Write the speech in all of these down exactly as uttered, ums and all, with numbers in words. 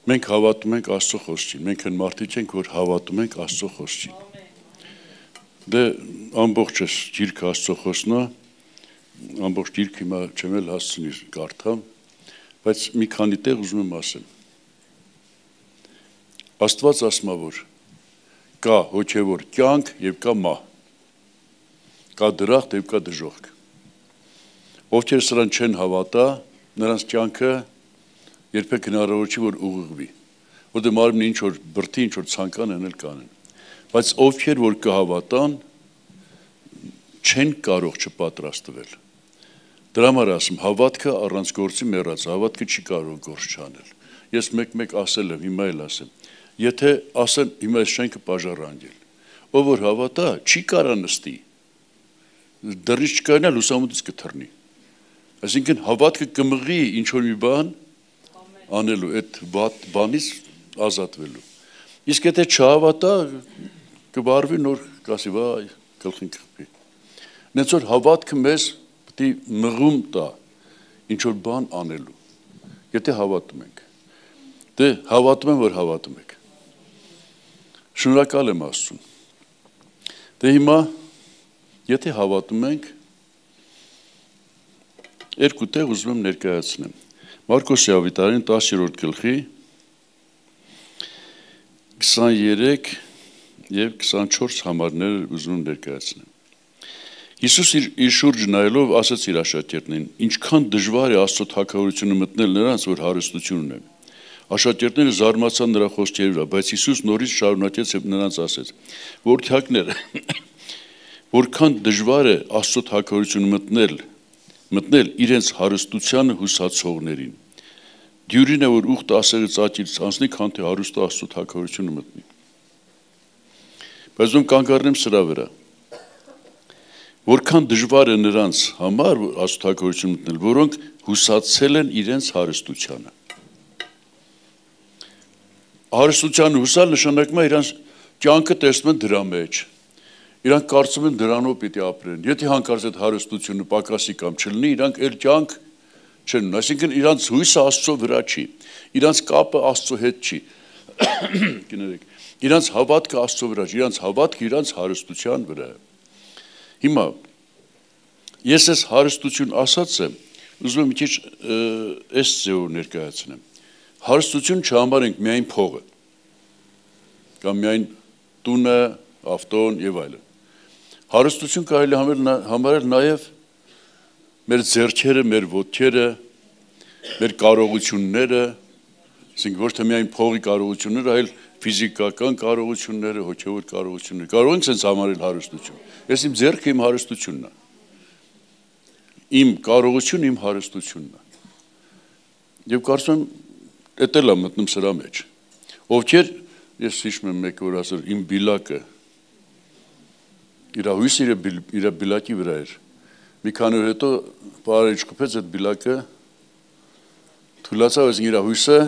Մենք հավատում ենք Աստծո խոսքին, մենք այն մարդիկ ենք, որ հավատում ենք Աստծո խոսքին։ Դե ամբողջս գիրքը Աստծո խոսքն է, ամբողջ գիրքը հիմա չեմ էլ հասցնի կարդամ, բայց մի քանի տեղ ուզում եմ ասեմ։ Աստված ասում է, որ կա հոգևոր կյանք եւ կա մահ, կա դրախտ եւ կա դժոխք։ Ովքեր սրան չեն հավատա, նրանց կյանքը երբեք հնարավոր չի, որ ուղղվի, որտեղ մարմինը ինչ որ բրդի, ինչ որ ցանկան են էլ կանեն, բայց ովքեր որ կհավատան, չեն կարող չպատրաստվել։ Դրա համար ասում, հավատքը առանց գործի մեռած, հավատքը չի կարող գործ չանել։ Ես մեկ-մեկ ասել եմ, հիմա էլ ասեմ, եթե ասեն հիմա այս շենքը բաժարանգել, ով որ հավատա, չի կարա նստի, դրից չկայանա, լուսամուտից կթռնի։ Այսինքն հավատքը կմղի ինչ որ մի բան անելու, այդ բանից ազատվելու։ Իսկ եթե չհավատա, կբարվի նոր կասի, վայ, գլխին կխփի։ Նենց որ հավատքը մեզ պետք է մղում տա ինչ որ բան անելու։ Եթե հավատում ենք։ Դե հավատում եմ, որ հավատում եք։ Շնորհակալ եմ Աստծուն։ Դե հիմա եթե հավատում ենք, երկու տեղ ուզում եմ ներկայացնեմ։ Մարկոսի ավետարանի տասերորդ գլխի քսաներեք եւ քսանչորս համարները ուզում եմ ներկայացնեմ։ Հիսուս իր, իր շուրջը նայելով ասաց իր աշակերտներին. ինչքան դժվար է Աստծո թագավորությունը մտնել նրանց, որ հարստություն ունեն։ Աշակերտները զարմացան նրա խոսքերի վրա, բայց Հիսուս նորից շարունակեց եւ նրանց ասեց. Որդյակները, որքան դժվար է Աստծո թագավորությունը մտնել, մտնել իրենց հարստությանը հուսացողներին։ Դյուրին է, որ ուխտը ասեղից աճից անցնի, քան թե հարուստը Աստծո թագավորությունը մտնի։ Բայց ում կանգառնեմ սրա վրա։ Որքան դժվար է նրանց համար Աստծո թագավորությունը մտնել, որոնք հուսացել են իրենց հարստությանը։ Հարստությանը հուսալ նշանակում է իրենց կյանքը տեսնում են դրա մեջ։ Իրանք կարծում են դրանով պիտի ապրեն։ Եթե հանկարծ այդ հարստությունը պակասի կամ չլինի, իրանք էլ կյանք չեն ունեն։ Այսինքն իրանք հույսը Աստծո վրա չի, իրանք կապը Աստծո հետ չի։ Կներեք, իրանք հավատքը Աստծո վրա չի, իրանք հավատքը իրանք հարստության վրա է։ Հիմա ես այս հարստություն ասած եմ, ուզում եմ մի քիչ այս ձևով ներկայացնեմ։ Հարստություն չհամարենք միայն փողը, կամ միայն տունը, ավտոն եւ այլն։ Հարստություն կարելի համարել նաև մեր ձեռքերը, մեր ոտքերը, մեր կարողությունները, ասենք ոչ թե միայն փողի կարողությունները, այլ ֆիզիկական կարողությունները, հոգևոր կարողությունները։ Կարող ենք sense համարել հարստություն։ Ես իմ ձեռքը իմ հարստությունն է։ Իմ կարողությունը իմ հարստությունն է։ Եվ կարծում եմ, դա էլ է մտնում սրա մեջ։ Ովքեր, ես հիշում եմ մեկ որ ասել, իմ բիլակը իր հույսը իր բիլակի վրա էր։ Մի քանի օր հետո բարի չկփեց այդ բիլակը, թուլացավ այս իր հույսը,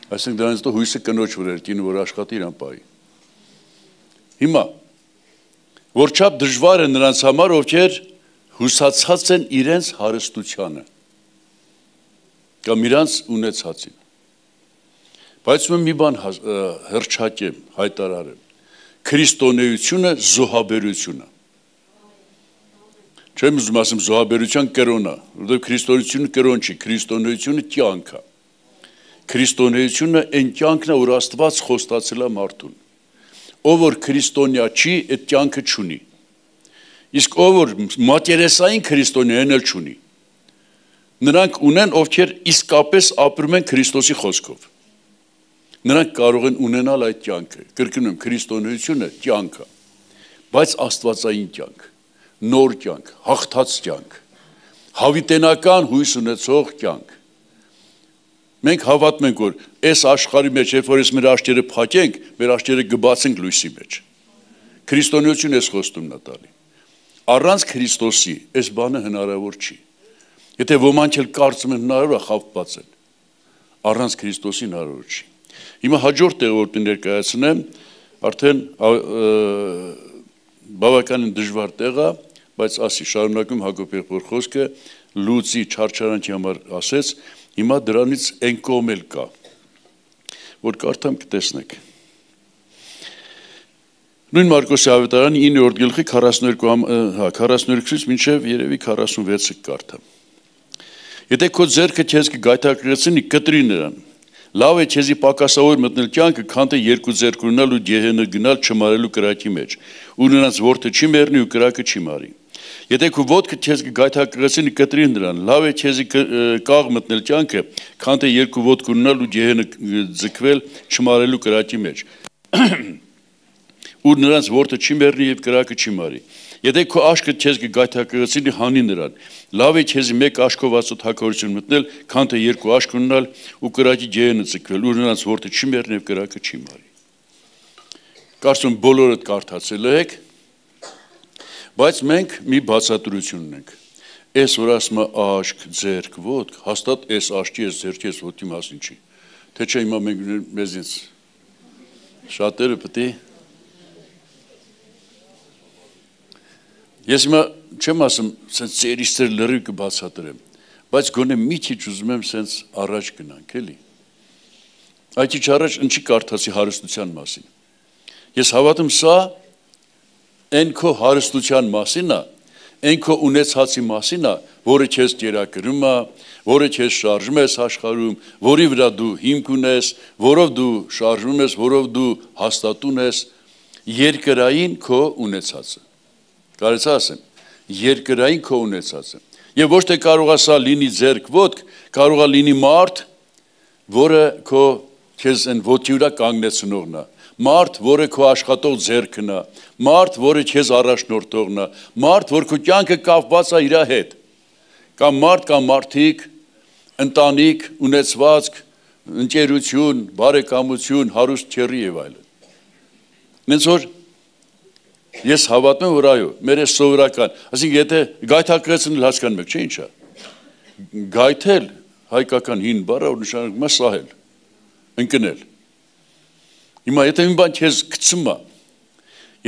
այսինքն դրանից հետո հույսը կնոջ վրա էր, կինը որ աշխատի իրան պահի։ Հիմա որչափ դժվար է նրանց համար, ովքեր հուսացած են իրենց հարստությանը կամ իրանց ունեցածին։ Բայց ում մի բան հրճակեմ, հայտարարեմ։ Քրիստոնեությունը զոհաբերությունը։ Չեմ ուզում ասեմ զոհաբերության կրոնը, որովհետև քրիստոնեությունը կրոն չի, քրիստոնեությունը կյանք է։ Քրիստոնեությունը այն կյանքն է, որ Աստված խոստացել է մարդուն։ Ով որ քրիստոնյա չի, այդ կյանքը չունի։ Իսկ ով որ մատերեսային քրիստոնյա են էլ չունի։ Նրանք ունեն, ովքեր իսկապես ապրում են Քրիստոսի խոսքով։ Նրանք կարող են ունենալ այդ կյանքը, կրկնում եմ, քրիստոնեությունը կյանք է, բայց աստվածային կյանք, նոր կյանք, հաղթած կյանք, հավիտենական հույս ունեցող կյանք։ Մենք հավատում ենք, որ այս աշխարհի մեջ, երբ որ մեր աչքերը փակենք, մեր աչքերը կբացենք լույսի մեջ։ Քրիստոնեությունը էս խոստումն է տալի։ Առանց Քրիստոսի այս բանը հնարավոր չի։ Եթե ոմանք էլ կարծում են հնարավոր է, խաբված են։ Առանց Քրիստոսի հնարավոր չի։ Հիմա հաջորդ տեղը որ ներկայացնեմ, արդեն բավականին դժվար տեղ է, բայց ասի շարունակում Հակոբ եղբոր խոսքը լուծի չարչարանքի համար ասեց, Հիմա դրանից այն կողմ էլ կա, որ կարդամ կտեսնեք։ Նույն Մարկոսի ավետարանի իններորդ գլխի քառասունուերկուից մինչև երևի քառասունվեցը կարդամ։ Եթե քո ձեռքը քեզ կգայթակղեցնի, կտրի նրան։ Լավ է քեզի պակասավոր մտնել կյանքը, քան թե երկու ձեռք ունենալ ու գեհենը գնալ չմարելու կրակի մեջ, ու նրանց որդը չի մեռնի ու կրակը չի մարի։ Եթե քո ոտքը քեզ կգայթակղեցնի, կտրի նրան։ Լավ է քեզի կաղ մտնել կյանքը, քան թե երկու ոտք ունենալ ու գեհենը ձգվել չմարելու կրակի մեջ, ու նրանց որդը չի մեռնի եւ կրակը չի մարի։ Եթե քո աշկը քեզ կգայթակղեցնի, հանի նրան։ Լավ է քեզի մեկ աշկով Աստծո թագավորություն մտնել, քան թե երկու աշկ ունենալ ու կրակի գեհենը ձգվել, ու նրանց որդը չի մեռնի եւ կրակը չի մարի։ Կարծում բոլորդ կարդացել եք, բայց մենք մի բացատրություն ունենք։ Այս որ ասում է աշկ, ձեռք, ոտք, հաստատ այս աշկի, այս ձեռքի, այս ոտքի մասին չի։ Թե չէ հիմա մենք մեզից շատերը պետք է Ես հիմա չեմ ասում, սենց ծերից ծեր լրիվ կբացատրեմ, բայց գոնե մի քիչ ուզում եմ սենց առաջ գնանք, էլի։ Այդ քիչ առաջ ինչի կարդացի հարստության մասին։ Ես հավատում սա այն քո հարստության մասին է, այն քո ունեցածի մասին է, որը քեզ կերակրում է, որը քեզ շարժում ես աշխարհում, որի վրա դու հիմք ունես, որով դու շարժվում ես, որով դու հաստատուն ես, երկրային քո ունեցածը։ Կարծես ասեմ, երկրային քո ունեցածը։ Եվ ոչ թե կարող է սա լինի ձեռք ոտք, կարող է լինի մարդ, որը քո քեզ այն ոտքի վրա կանգնեցնողն է, մարդ, որը քո աշխատող ձեռքն է, մարդ, որը քեզ առաջնորդողն է, մարդ, որ քո կյանքը կապված է իր հետ։ Կամ մարդ, կամ մարդիկ, ընտանիք, ունեցվածք, ընկերություն, բարեկամություն, հարուստ քեռի եւ այլն։ Նենց որ Ես հավատում եմ, որ այո, մեր այս սովորական, ասենք եթե գայթակղեցնել հասկանում եք, չէ՞ ինչա։ Գայթել հայկական հին բառը, որ նշանակում է սահել, ընկնել։ Հիմա եթե մի բան քեզ գցում է,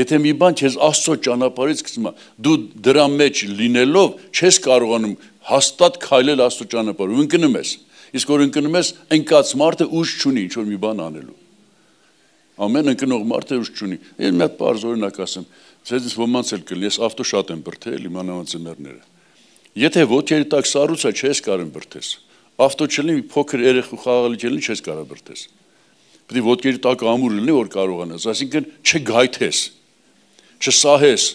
եթե մի բան քեզ Աստծո ճանապարհից գցում է, դու դրա մեջ լինելով չես կարողանում հաստատ քայլել Աստծո ճանապարհով, ընկնում ես։ Իսկ որ ընկնում ես, ընկած մարդը ուժ չունի ինչ որ մի բան անելու։ Ամեն ընկնող մարդը ուժ չունի։ Ես մի հատ պարզ օրինակ ասեմ, ցեզից ոմանց էլ կլինի, ես ավտո շատ եմ բրդել, իմ անհանձններները։ Եթե ոտքերի տակ սառույց է, չես կարող բրդես։ Ավտո չլինի, մի փոքր երեխու խաղալի չլինի, չես կարող բրդես։ Պետք է ոտքերի տակ ամուր լինի, որ կարողանաս, այսինքն չգայթես, չսահես,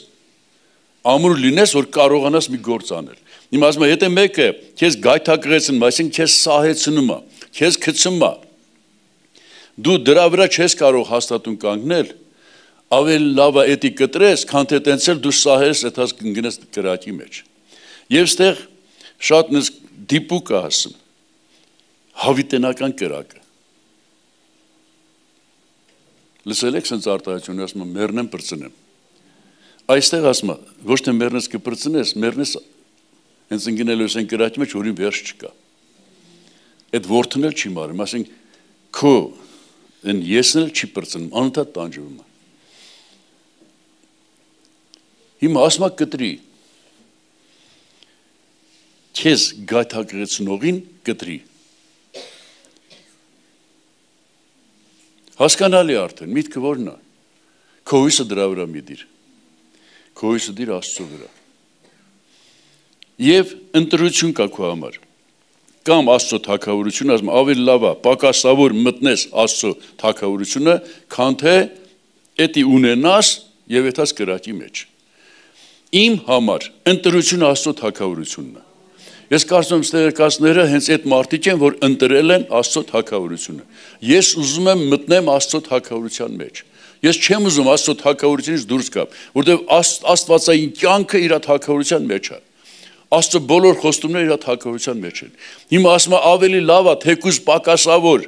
ամուր լինես, որ կարողանաս մի գործ անել։ Հիմա ասում եմ, եթե մեկը քեզ գայթակղեցնում, այսինքն քեզ սահեցնում է, քեզ գցում է, դու դրա վրա չես կարող հաստատուն կանգնել, ավելի լավ է էդի կտրես, քան թե տենցել դու սահես, այդած կգնես կրակի մեջ։ Եվ ստեղ շատ նս դիպուկ է ասում, հավիտենական կրակը։ Լսել եք սենց արտահայտություն, ասում եմ, մեռնեմ պրծնեմ։ Այստեղ ասում եմ, ոչ թե մեռնես կպրծնես, մեռնես հենց ընկնելու ես այն կրակի մեջ, որին վերջ չկա։ Այդ որդն էլ չի մարում, ասենք քո Են եսն էլ չի պրծնում, անընդհատ տանջվում է։ Հիմա ասում եմ կտրի։ Քեզ գայթակղեցնողին կտրի։ Հասկանալի արդեն, միտքը որն է։ Քո հույսը դրա վրա մի դիր։ Քո հույսը դիր Աստծո վրա։ Եվ ընտրություն կա քո համար։ Կամ Աստծո թագավորությունը, ասում ավելի լավ է, պակասավոր մտնես Աստծո թագավորությունը, քան թե էդի ունենաս եւ այդած կրակի մեջ։ Իմ համար ընտրությունը Աստծո թագավորությունն է։ Ես կարծում եմ ստեղծները հենց այդ մարդիկ են, որ ընտրել են Աստծո թագավորությունը։ Ես ուզում եմ մտնեմ Աստծո թագավորության մեջ։ Ես չեմ ուզում Աստծո թագավորությունից դուրս գամ, որտեղ Աստվածային կյանքը իր թագավորության մեջ է։ Աստծո բոլոր խոստումները իր թագավորության մեջ են։ Հիմա ասում եմ ավելի լավ է թեկուզ պակասավոր,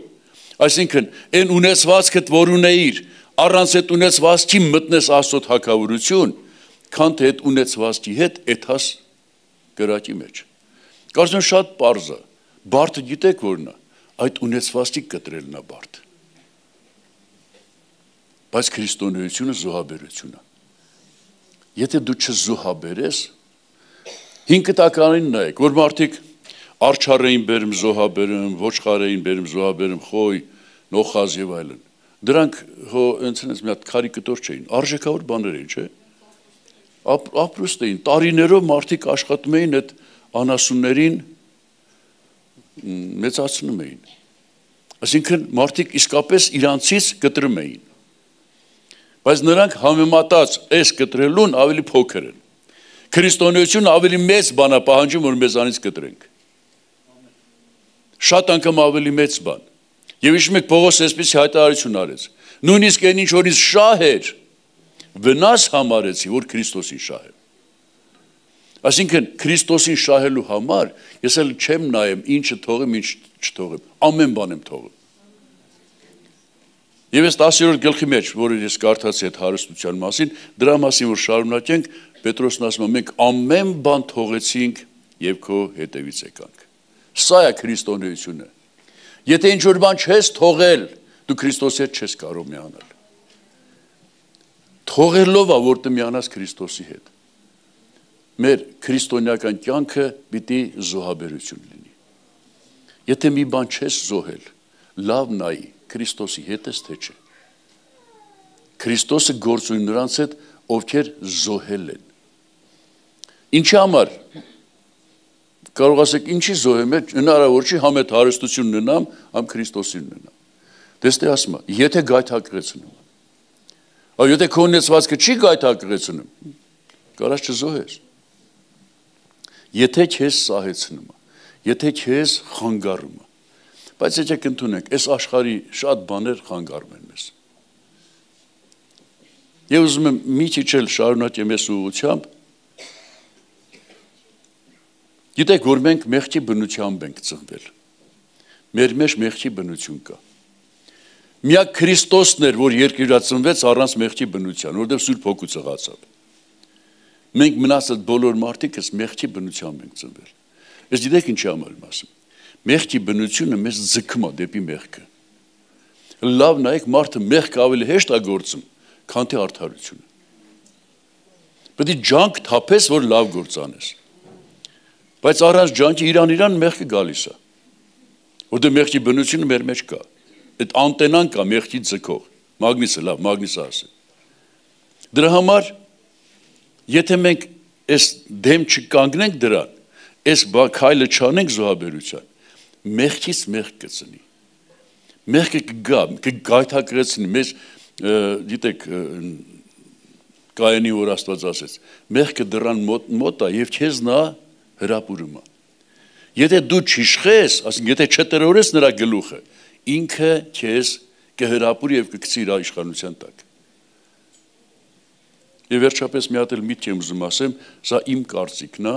այսինքն այն ունեցվածքդ, որ ունեիր, առանց այդ ունեցվածքի մտնես Աստծո թագավորություն, քան թե այդ ունեցվածքի հետ էթաս կրակի մեջ։ Կարծում եմ շատ պարզ է, բարդը գիտեք որն է, այդ ունեցվածքի կտրելն է բարդ։ Բայց քրիստոնեությունը զոհաբերություն է։ Եթե դու չզոհաբերես, հինգ տականին նայեք, որ մարդիկ Արջար էին բերում, զոհաբերում, ոչխար էին բերում, զոհաբերում, խոյ, նոխազ եւ այլն։ Դրանք հո ընցնես մի հատ կարիկատուր չէին, արժեքավոր բաներ էին, չէ՞։ Ապրուստ էին, տարիներով մարդիկ աշխատում էին այդ անասուններին մեծացնում էին։ Այսինքն մարդիկ իսկապես իրանցից կտրում էին։ Բայց նրանք համեմատած այս կտրելուն ավելի փոքր են։ Քրիստոնեությունը ավելի մեծ բան է պահանջում, որ մեզանից կտրենք։ Շատ անգամ ավելի մեծ բան։ Եվ իշ մեկ Պողոս այսպես հայտարարություն արեց։ Նույնիսկ այն ինչ որ ինձ շահ էր, վնաս համարեցի, որ Քրիստոսին շահեմ։ Այսինքն Քրիստոսին շահելու համար ես էլ չեմ նայեմ ինչը թողեմ, ինչ չթողեմ, ամեն բան եմ թողում։ Եվ այս տասերորդ գլխի մեջ, որը ես կարդացի այդ հարստության մասին, դրա մասին որ շարունակենք, Պետրոսն ասում է, մենք ամեն բան թողեցինք եւ քո հետևից եկանք։ Սա է քրիստոնեությունը։ Եթե ինչ որ բան չես թողել, դու Քրիստոսի հետ չես կարող միանալ։ Թողելով է, որ դու միանաս Քրիստոսի հետ։ Մեր քրիստոնեական կյանքը պիտի զոհաբերություն լինի։ Եթե մի բան չես զոհել, լավ նայի, Քրիստոսի հետ ես թե չէ։ Քրիստոսը գործում նրանց հետ, ովքեր զոհել են։ Ինչի համար կարող ասեք ինչի զոհեմ է, հնարավոր չի համ այդ հարստություն ունենամ, համ Քրիստոսին ունենամ։ Դեստե ասում է, եթե գայթակղեցնում։ Այո, եթե քո ունեցվածքը չի գայթակղեցնում, կարաս չզոհես։ Եթե քեզ սահեցնում, եթե քեզ խանգարում, բայց եկեք ընդունենք, այս աշխարհի շատ բաներ խանգարում են մեզ։ Եվ ուզում եմ մի քիչ էլ շարունակեմ այս ուղղությամբ։ Գիտեք, որ մենք մեղքի բնությամբ ենք ծնվել։ Մեր մեջ մեղքի բնություն կա։ Միակ Քրիստոսն էր, որ երկրի ծնվեց առանց մեղքի բնության, որտեղ Սուրբ Հոգու ծղացավ։ Մենք մնացած բոլոր մարդիկս մեղքի բնությամբ ենք ծնվել։ Ես գիտեք ինչի համար եմ ասում։ Մեղքի բնությունը մեզ ձգում է դեպի մեղքը։ Լավ նայեք, մարդը մեղքը ավելի հեշտ է գործում, քան թե արդարությունը։ Պետք է ջանք թափես, որ լավ գործ անես։ Բայց առանց ջանքի իրան-իրան մեղքը գալիս է։ Որտեղ մեղքի բնությունը մեր մեջ կա։ Այդ անտենան կա մեղքի ձգող։ Մագնիսը լավ, մագնիսը ասի։ Դրա համար եթե մենք այս դեմ չկանգնենք դրան, այս քայլը չանենք զոհաբերության, մեղքից մեղք կծնի։ Մեղքը կգա, կգայթակղեցնի մեզ, գիտեք, Կայենի որ Աստված ասեց, մեղքը դռան մոտ է եւ քեզ նա հրապուրում է։ Եթե դու չիշխես, ասենք եթե չտրորես նրա գլուխը, ինքը քեզ կհրապուրի եւ կգցի իր իշխանության տակ։ Եվ վերջապես մի հատ էլ միտք եմ ուզում ասեմ, սա իմ կարծիքն է։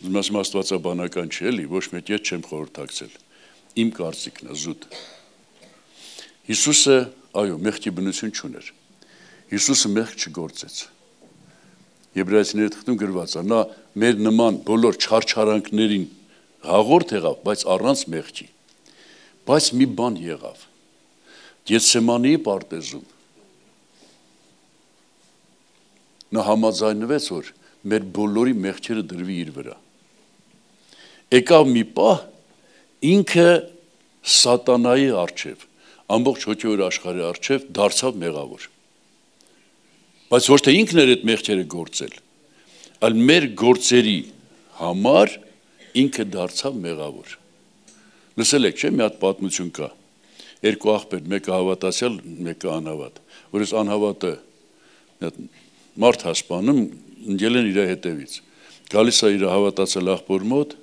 Ուզում ասեմ աստվածաբանական չէ, էլի, ոչ մեկ ետ չեմ խորհրդակցել։ Իմ կարծիքն է զուտ։ Հիսուսը, այո, մեղքի բնություն չուներ։ Հիսուսը մեղք չգործեց։ Եբրայեցիների թղթում գրված է, նա մեր նման բոլոր չարչարանքներին հաղորդ եղավ, բայց առանց մեղքի։ Բայց մի բան եղավ։ Գեթսեմանեի պարտեզում նա համաձայնվեց, որ մեր բոլորի մեղքերը դրվի իր վրա։ Եկավ մի պահ, ինքը սատանայի առջև, ամբողջ հոգևոր աշխարհի առջև դարձավ մեղավոր։ Բայց ոչ թե ինքն էր այդ մեղքերը գործել, այլ մեր գործերի համար ինքը դարձավ մեղավոր։ Լսել եք, չէ՞, մի հատ պատմություն կա։ Երկու աղբեր, մեկը հավատացյալ, մեկը անհավատ։ Որ այս անհավատը մարդ հասպանում, ընկել են իր հետևից։ Գալիս է իր հավատացյալ աղբոր մոտ,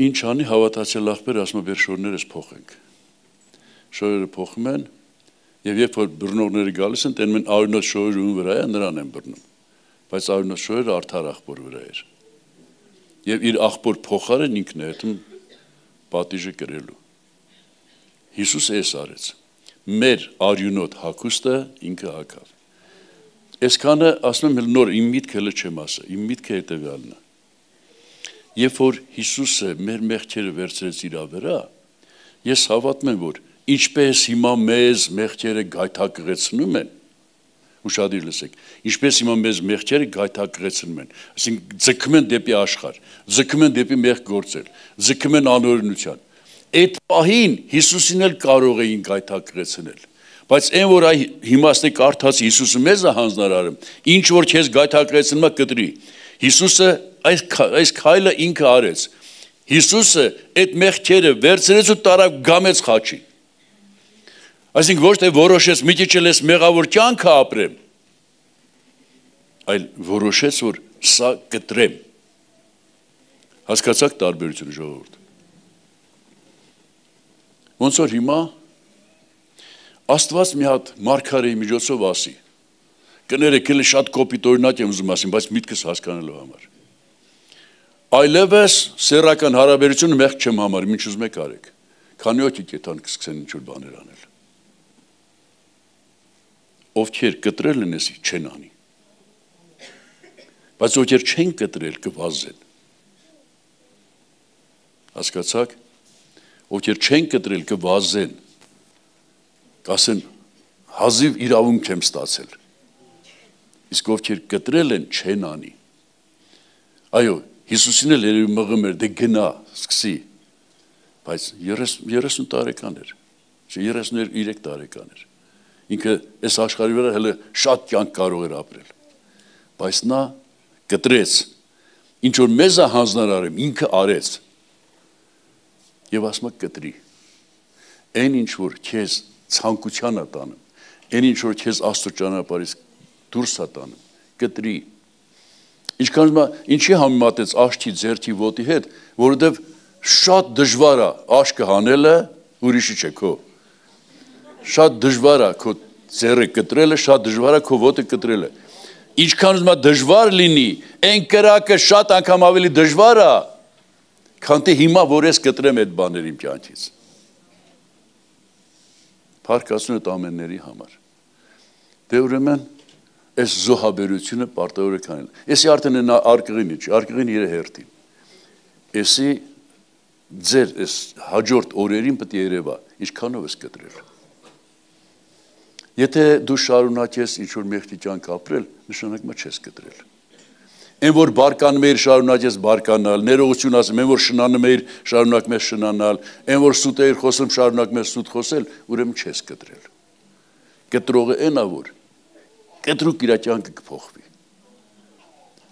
ինչ անի հավատացյալ աղբերը, ասում է, բեր շորներս փոխենք։ Շորերը փոխում են, եւ երբ որ բռնողները գալիս են, տենում են արյունոտ շորերը ում վրա է, նրան են բռնում։ Բայց արյունոտ շորերը արդար աղբոր վրա էր։ Եվ իր աղբոր փոխարեն ինքն է հետում պատիժը կրելու։ Հիսուսը էս արեց։ Մեր արյունոտ հագուստը ինքը հագավ։ Այսքանը ասում եմ նոր իմ միտքը հələ չեմ ասա, իմ միտքը հետեւյալն է։ Երբ որ Հիսուսը մեր մեղքերը վերցրեց իր վրա, ես հավատում եմ, որ ինչպես հիմա մեզ մեղքերը գայթակղեցնում են, ուշադիր լսեք, ինչպես հիմա մեզ մեղքերը գայթակղեցնում են, այսինքն ձգում են դեպի աշխարհ, ձգում են դեպի մեղք գործել, ձգում են անօրենության։ Այդ պահին Հիսուսին էլ կարող էին գայթակղեցնել, բայց այն որ այ հիմա ստե կարդաց Հիսուսը մեզ է հանձնարարում, ինչ որ քեզ գայթակղեցնում է կտրի։ Հիսուսը այս այս քայլը ինքը արեց։ Հիսուսը այդ մեղքերը վերցրեց ու տարավ գամեց խաչին։ Այսինքն ոչ թե որոշեց մի քիչ էլ էս մեղավոր կյանքը ապրեմ, այլ որոշեց որ սա կտրեմ։ Հասկացաք տարբերությունը ժողովուրդ։ Ոնց որ հիմա Աստված մի հատ մարգարեի միջոցով ասի։ Կներեք, էլի շատ կոպիտ օրինակ եմ ուզում ասեմ, բայց միտքս հասկանալու համար։ Այլևս սեռական հարաբերությունը մեղք չեմ համարում, ինչ ուզում եք արեք։ Քանի օքի կետան կսկսեն ինչ որ բաներ անել։ Ովքեր կտրել են էսի չեն անի։ Բայց ովքեր չեն կտրել կվազեն։ Հասկացաք։ Ովքեր չեն կտրել կվազեն, կասեն հազիվ իրավունք եմ ստացել, իսկ ովքեր կտրել են չեն անի։ Այո, Հիսուսին էլ երևի մղում էր, դե գնա, սկսի, բայց երեսուն տարեկան էր, երեսուներեք տարեկան էր, ինքը այս աշխարհի վրա հələ շատ կյանք կարող էր ապրել, բայց նա կտրեց, ինչ որ մեզ է հանձնարարում, ինքը արեց, և ասում է կտրի, այն ինչ որ քեզ ցանկության է տանում, այն ինչ որ քեզ Աստծո ճանապարհից դուրս է տանում, կտրի։ Ինչքան ինչի համեմատեց աշտի ձեռքի ոտի հետ, որովհետև շատ դժվար է աշկը հանելը, ուրիշի չէ քո։ Շատ դժվար է քո ձեռը կտրելը, շատ դժվար է քո ոտը կտրելը։ Ինչքան ուզում է դժվար լինի, այն կրակը շատ անգամ ավելի դժվար է, քան թե հիմա որ ես կտրեմ այդ բաները իմ կյանքից։ Փառքացուն այդ ամենների համար։ Դե ուրեմն այս զոհաբերությունը պարտավոր է կանել։ Էսի արդեն նա արկղին չի, արկղին իր հերթին։ Էսի ձեր այս հաջորդ օրերին պետք է երևա, ինչքանով ես կտրել։ Եթե դու շարունակես ինչ որ մեղքի կյանք ապրել, նշանակում է չես կտրել։ Այն որ բարկանում էիր շարունակես բարկանալ, ներողություն ասեմ, այն որ շնանում էիր շարունակում ես շնանալ, այն որ սուտ էիր խոսում շարունակում ես սուտ խոսել, ուրեմն չես կտրել։ Կտրողը այն է որ կտրուկ իր կյանքը կփոխվի։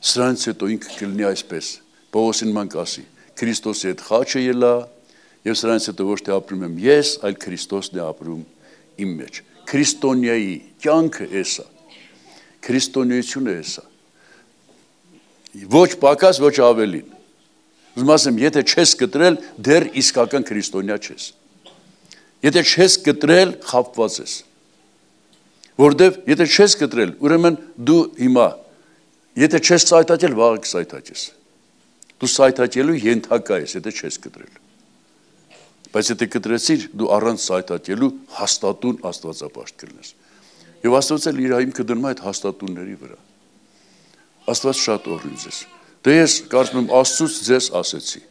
Սրանից հետո ինքը կլինի այսպես, Պողոսին ման կասի, Քրիստոսի հետ խաչը ելա, եւ սրանից հետո ոչ թե ապրում եմ ես, այլ Քրիստոսն է ապրում իմ մեջ։ Քրիստոնյայի կյանքը էսա։ Քրիստոնեությունը էսա։ Ոչ պակաս, ոչ ավելին։ Ուզում ասեմ, եթե չես կտրել, դեռ իսկական քրիստոնյա չես։ Եթե չես կտրել, խաբված ես։ Որտեվ եթե չես կտրել, ուրեմն դու հիմա, եթե չես սայթաճել, վաղը կսայթաճես։ Դու սայթաճելու ենթակա ես, եթե չես կտրել։ Բայց եթե կտրեցիր, դու առանց սայթաճելու հաստատուն աստվածապաշտ կլինես։ Եվ Աստված էլ իր հիմքը դնում է այդ հաստատունների վրա։ Աստված շատ օրհնի ձեզ։ Դե ես կարծում եմ Աստծուց ձեզ ասեցի։